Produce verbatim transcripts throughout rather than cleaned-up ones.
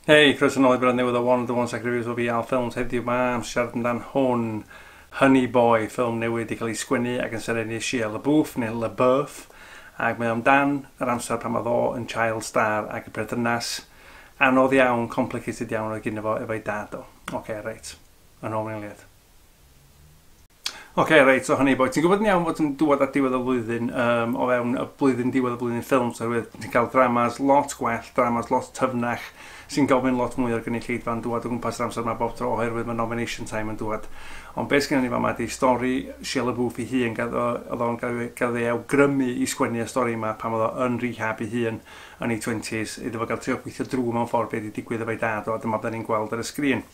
Hei, croeso nôl i bennod newydd o One of the One Second Reviews o fi Al Films. Heddiw ma am siarad amdan hwn, Honey Boy, ffilm newydd i cael ei sgwennu ac yn serennu Shia LaBeouf, neu LaBeouf. Ac mae amdan yr amser pan oedd o yn child star ac y perthynas anodd iawn, complicated iawn oedd gyda fo efo'i dad o. Oce, okay, reit. Yn ôl mewn eiliad. Oce, okay, reit, so Honey Boy. Ti'n gwybod yn iawn fod yn dŵad at diwedd y flwyddyn, um, o fewn y blwyddyn diwedd y blwyddyn ffilm, oherwydd ti'n cael dramas lot gwell, dramas lot tyfnach, sy'n gofyn lot mwy o'r gynulleidfa yn dŵad o gwmpas yr amser yma bob tro, oherwydd mae nomination time yn dŵad. Ond beth sgynnon ni fama ydi stori Shia LaBeouf ei hun, oedd o'n gael ei awgrymu i sgwennu y stori yma pan oedd o yn rehab ei hun yn ei twenties, iddo fo gael trio gweithio drwy mewn ffordd beth wedi digwydd efo'i dad o, a dyma beth ni'n gweld ar y sgrin.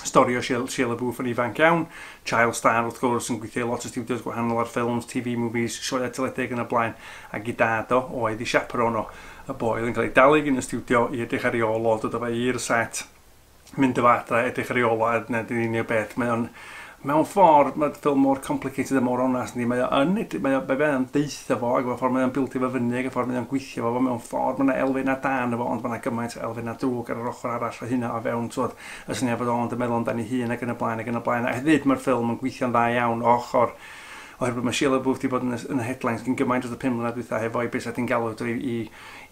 Stori o Shia, Shia LaBeouf yn ifanc iawn, child star wrth gwrs, yn gweithio i lot o studios gwahanol ar ffilms, T V movies, sioeau teledu yn y blaen, ac i dad o, oedd i chaperone o, y boi oedd yn cael ei dalu gan y studio i edrych ar ei ôl o, dod o fe i'r set, mynd efo adra, edrych ar ei ôl o, a dyna di'n unig beth. Mae o'n, mewn ffordd, mae'r ffilm mor complicated a mor onast, ni. Mae o yn, mae o, mae o'n deitha fo, ac mewn ffordd mae o'n bildio fo fyny, ac y ffordd mae o'n gweithio fo, mewn ffordd mae yna elfen da ynddo fo, ond mae yna gymaint o elfen drwg ar yr ochr arall o hynna o fewn, twod, y syniad bod o'n meddwl amdani hun ac yn y blaen ac yn y blaen. A hefyd mae'r ffilm yn gweithio'n dda iawn o ochr oherwydd mae Shia LaBeouf wedi bod yn y, yn y headlines gyn gymaint dros y pum mlynedd dwytha hefo'i beth ti'n galw drwy i,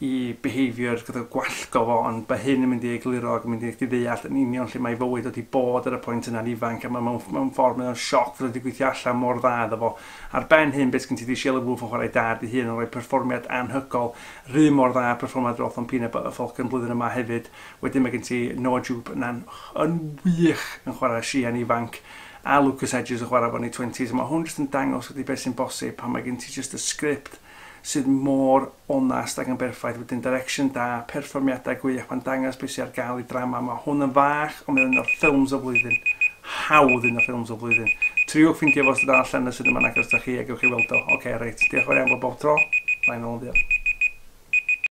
i behaviour gyda gwallgo fo, ond mae hyn yn mynd i egluro ac yn mynd i chdi ddeall yn union lle mae fywyd wedi bod ar y pwynt yna'n ifanc, a mae mewn, mewn ffordd mae'n sioc fod wedi gweithio allan mor dda iddo fo. Ar ben hyn, beth sgyn ti di Shia LaBeouf yn chwarae dad ei hun yn rhoi perfformiad anhygoel, rhy mor dda perfformiad roth o'n Peanut Butter Falcon blwyddyn yma hefyd. Wedyn mae gen ti Noah Jupe yna'n yn wych yn chwarae Shia'n ifanc a Lucas Hedges yn chwarae fo'n ei twenties. Mae hwn jyst yn dangos ydy beth sy'n bosib pan mae gen ti just y sgript sydd mor onast ac yn berffaith, wedyn direction da, perfformiadau gwych, mae'n dangos beth sydd ar gael i drama. Mae hwn yn fach, ond mae'n un o'r ffilms o flwyddyn. Hawdd un o'r ffilms o flwyddyn. Triwch ffeindio fo os ydy allan y sydd yma'n agos da chi a gewch chi weld o. Oce, okay, reit. Diolch yn fawr iawn bob tro. Mae'n ôl yn fuan.